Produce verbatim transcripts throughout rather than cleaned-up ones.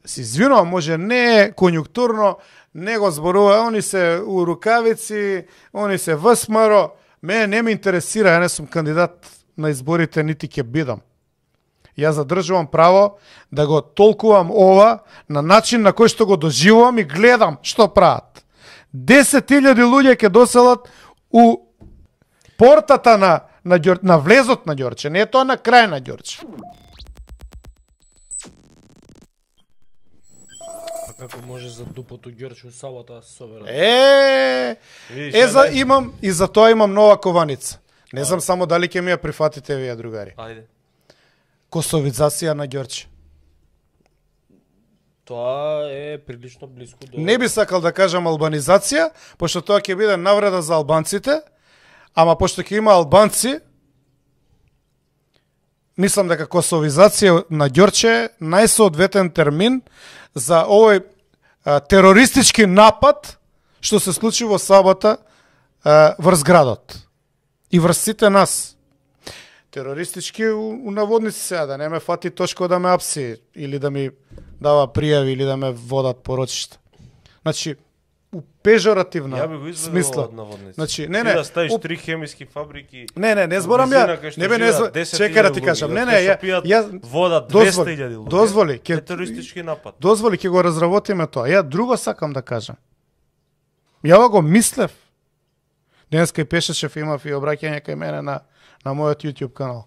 си извинувам, може не е конјунктурно, не го зборува, они се у рукавици, они се ВСМР, мене не ме интересира, ја не сум кандидат на изборите, нити ќе бидам. Ја задржувам право да го толкувам ова на начин на кој што го доживувам и гледам што прават. десет илјади луѓе ќе доселат у портата на, на, на влезот на Ѓорче, не е тоа на крај на Ѓорче. Како може за дупото Ѓорче у сабота собера? Е, е за имам и за тоа имам нова кованица. Не знам само дали ќе ми ја прифатите вие, другари. Ајде. Косовизација на Ѓорче. Тоа е прилично близко до... Не би сакал да кажам албанизација, пошто тоа ќе биде навреда за албанците, ама пошто ќе има албанци, мислам дека косовизација на Ѓорче е најсоодветен термин за овој а, терористички напад што се случи во сабота а, врз градот и врз сите нас. Терористички у, у наводници сега, да не ме фати тошко да ме апси или да ми дава пријави или да ме водат порочишта. Значи, у пежоративна Ја би го изведувал смисла. од наводници. Значи, не, Ти не. да ставиш у... три хемиски фабрики. Не, не, не зборам ја. Не бе, не зборам. Чекај да ти кажам. Не, не, ја, ја вода двесте илјади луѓе. Дозволи, ќе терористички напад. Дозволи, ќе го разработиме тоа. Ја друго сакам да кажам. Ја го мислев. Денеска и пешешев, имав и обраќање кај мене на на мојот YouTube канал.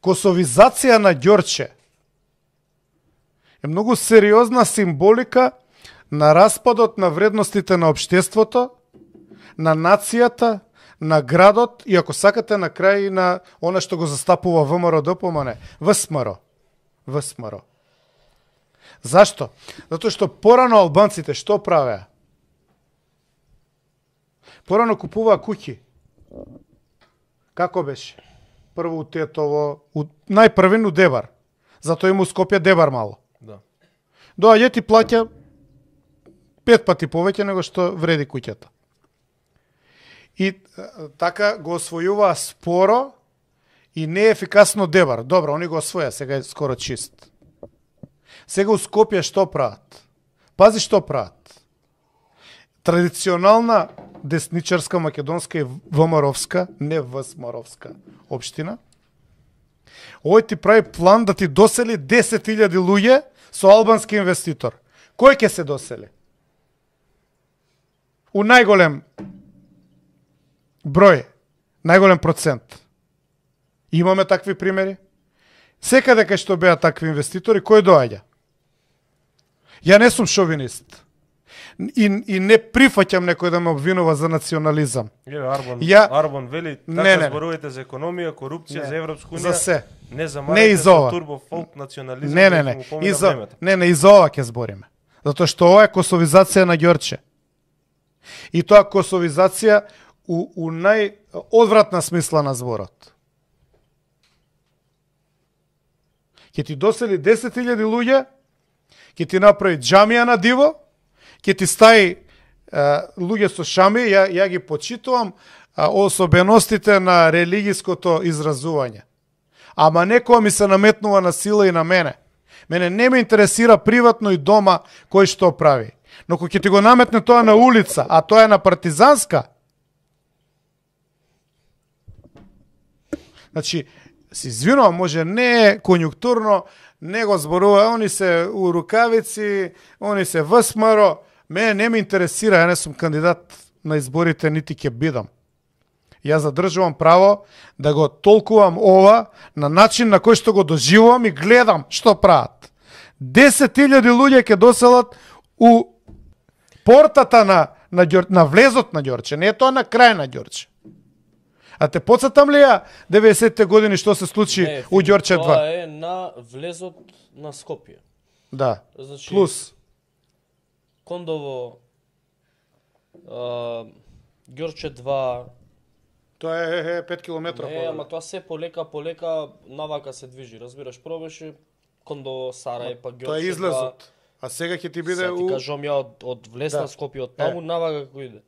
Косовизација на Ѓорче е многу сериозна символика на распадот на вредностите на општеството, на нацијата, на градот и ако сакате на крај на она што го застапува ВМРО-ДПМН, ВСМР. ВСМР. Зашто? Затоа што порано албанците што правеа? Порано купуваа куќи. Како беше? Прво у Тетово, у... најпрвен у Дебар. Затоа има у Скопје Дебар мало. Да. Доаѓа ти плаќа пет пати повеќе него што вреди куќата. И така го освојуваа споро и неефикасно Дебар. Добро, они го освоја, сега е скоро чист. Сега у Скопје што прават? Пази што прават. Традиционална десничарска македонска и ВМРО-вска, не ВСМР-овска општина. Овој ти прави план да ти досели десет илјади луѓе со албански инвеститор. Кој ќе се досели? У најголем број, најголем процент. Имаме такви примери. Секаде кај што беа такви инвеститори, кој доаѓа? Ја не сум шовинист. И, и не прифаќам некој да ме обвинува за национализам. Еве Арбан, Ја... Арбан вели така не, не. зборувате за економија, корупција, не. за Европска унија. За се. Не за не и за ова. турбо фолк национализам. Не, не, не. И за, не, не, и за ова ќе збориме. Затоа што ова е косовизација на Ѓорче. И тоа косовизација у, у најодвратна смисла на зборот. Ќе ти досели десет илјади луѓе, ќе ти направи џамија на диво, ќе ти стаи е, луѓе со шами, ја, ја ги почитувам а, особеностите на религиското изразување. Ама некоја ми се наметнува на сила и на мене. Мене не ме интересира приватно и дома кој што прави. Но кој ќе ти го наметне тоа на улица, а тоа е на Партизанска, значи, си извинувам, може не е конјунктурно, не го зборува, они се у рукавици, они се ВСМР, мене не ме интересира, ја не сум кандидат на изборите, нити ќе бидам. Ја задржувам право да го толкувам ова на начин на кој што го доживувам и гледам што прават. десет илјади луѓе ќе доселат у портата на, на, на влезот на Ѓорче, не е тоа на крај на Ѓорче. А те подсетам ли ја деветдесетте години што се случи не, у Ѓорче два? Тоа е на влезот на Скопје. Да, Значи, плюс. Кондово, а, Ѓорче два... Тоа е, е пет километра. Не, ама тоа се полека, полека навака се движи. Разбираш, пробеше Кондово, Сарај, па Ѓорче два... Тоа е излезот. А сега ќе ти биде Сега ти у... кажам ја од, од влез Да. на Скопје, од таму Е. навака како иде.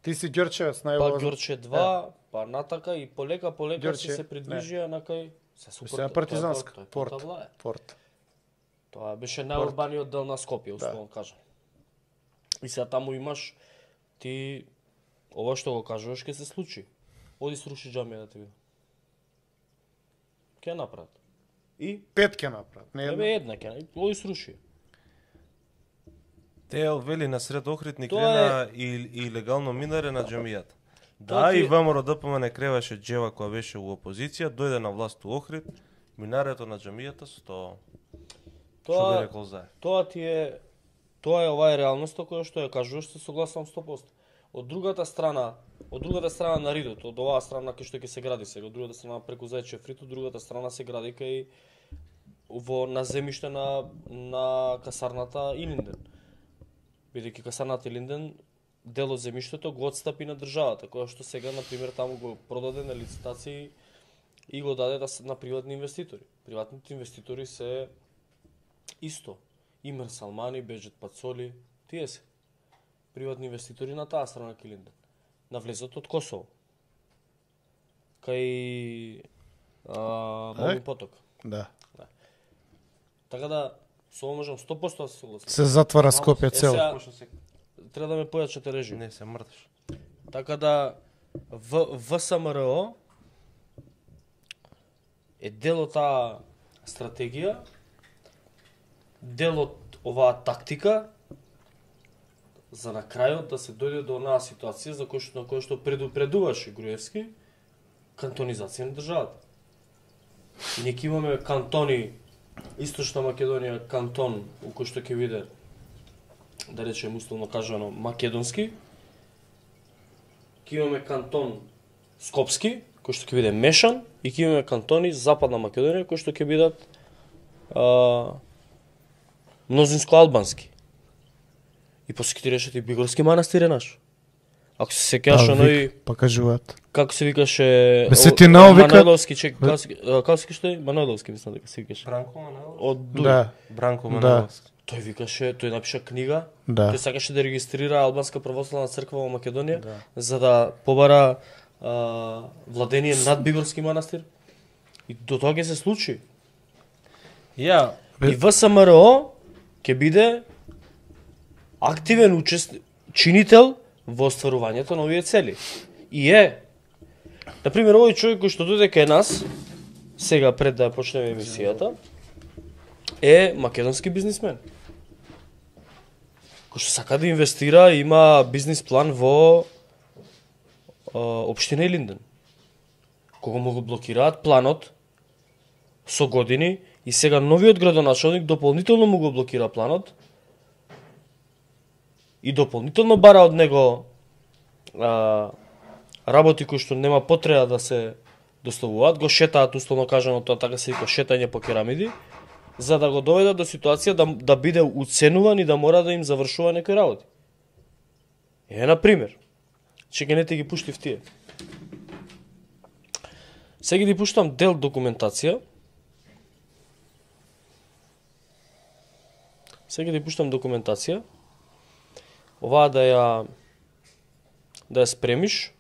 Ти си Ѓорчевец, Па највозно. Ѓорче два, па натака и полека, полека Ѓорче, се се придвижија на кај... Се Се на Партизанска, Тоа е порт. Порта Влаја. Порт. Тоа беше најурбаниот дел на Скопје, условно кажам. И сега таму имаш ти ова што го кажуваш ќе се случи. Оди сруши џамија да те види. Ќе направат. И Пет ќе направат, не Ебе една. една ќе, оди сруши. Теел вели на сред Охрид Тоа крена и, и легално минаре на џамијата. Тоа Да, ти и е- ВМРО Д П М не креваше Джева која беше у опозиција, дојде на власт у Охрид, минарето на џамијата сто. Што би Тоа рекол за? Тоа ти е тоа е оваа реалноста која што ја кажуваш, се согласувам сто проценти. Од другата страна, од другата страна на ридот, од оваа страна кај што ќе се гради сега, од другата страна преку Зајчев рид, од другата страна се гради кај во на земјиште на на касарната Илинден. Бидејќи касарната Илинден дел од земјиштето го отстапи на државата, која што сега на пример таму го продаде на лицитации и го даде да се на приватни инвеститори. Приватните инвеститори се исто. Имер Салмани, Беџет Пацоли, тие се приватни инвеститори на таа страна Килинден. На влезот од Косово. Кај а, Молин поток. Да. Така да, со ова можам сто проценти да се согласам. Се затвара Скопје Е, цело. сега- Пошто се... Треба да ме појачате режим. Не се мрдаш. Така да, в ВСМРО е дел од таа стратегија, дел од оваа тактика, за на крајот да се дојде до онаа ситуација за кој што, на кој што предупредуваше Груевски, кантонизација на државата. И ние ќе имаме кантони, Источна Македонија кантон, у кој што ќе биде, да речем условно кажано, македонски, ќе имаме кантон Скопски, кој што ќе биде мешан, и ќе имаме кантони Западна Македонија, кои што ќе бидат а, мнозинско албански. И после ќе ти решат и Бигорски манастир е наш. Ако се сеќаваш оној, Па кажуваат. како се викаше... Бе, се о- ти наовика- Манойловски, чек, како се- а, како се викаше тој? Манойловски, мислам дека се викаше. Бранко Манеловски? Од Дуј. Да, Бранко Да. Манеловски. Тој викаше, тој напиша книга, да. тој сакаше да регистрира Албанска православна црква во Македонија, за да побара а, владение над Бигорски манастир. И до тоа ќе се случи. Ја, И ВСМРО ќе биде активен учест... чинител во остварувањето на овие цели. И е, например, овој човек кој што дојде кај нас, сега пред да почнеме емисијата, е македонски бизнисмен. Кој што сака да инвестира, има бизнис план во а, општина Илинден. Кога му го блокираат планот со години и сега новиот градоначалник дополнително му го блокира планот и дополнително бара од него а, работи кои што нема потреба да се доставуваат, го шетаат условно кажано, тоа така се вика шетање по керамиди, за да го доведат до ситуација да, да биде уценуван и да мора да им завршува некои работи. Е, на пример, че не те ги пуштив тие. Сега ги пуштам дел документација. Сега ги пуштам документација. Оваа да ја да ја спремиш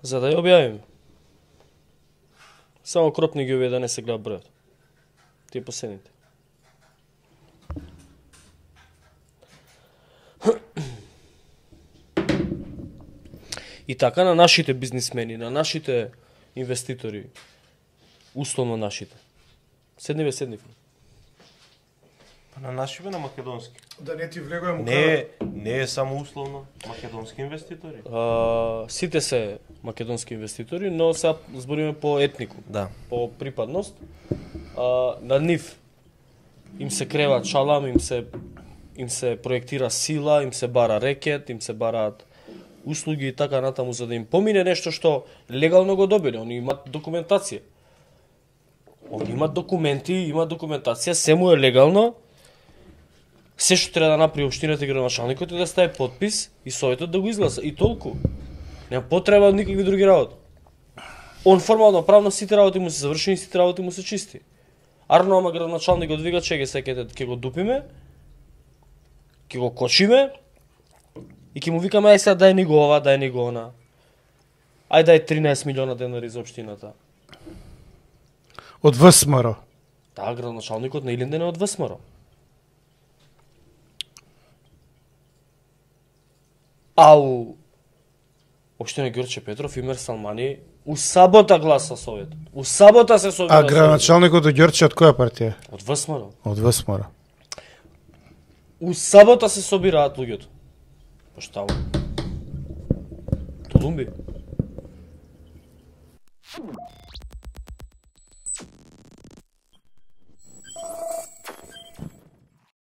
за да ја објавиме. Само кропни ги овие да не се гледа бројот. Тие последните. И така на нашите бизнисмени, на нашите инвеститори, условно нашите. Седниве, седниве. па на нашиве на македонски. Да не ти влегувам Не е, не е само условно македонски инвеститори. А, сите се македонски инвеститори, но сега збориме по етнику, Да. по припадност. А, на нив им се крева чалам, им се им се проектира сила, им се бара рекет, им се бараат услуги и така натаму за да им помине нешто што легално го добиле. Они имаат документација. Они имаат документи, имаат документација, се му е легално. Се што треба да направи општината и градоначалникот е да стави подпис и советот да го изгласа. И толку. Нема потреба од никакви други работи. Он формално правно сите работи му се завршени, сите работи му се чисти. Арно, ама градоначалникот вика, чеке секете, ќе го дупиме, ќе го кочиме и ќе му викаме, ај сега дај ни го ова, дај ни го она. Ај дај тринаесет милиона денари за општината. Од ВСМР. Да, градоначалникот на Илинден е од ВСМР. Ау, општина Ѓорче Петров и Мир Салмани у сабота гласа Советот. У сабота се собира. А градоначалникот од Ѓорче од која партија? Од ВСМР. Од ВСМР. У сабота се собираат луѓето. Пошто Толумби.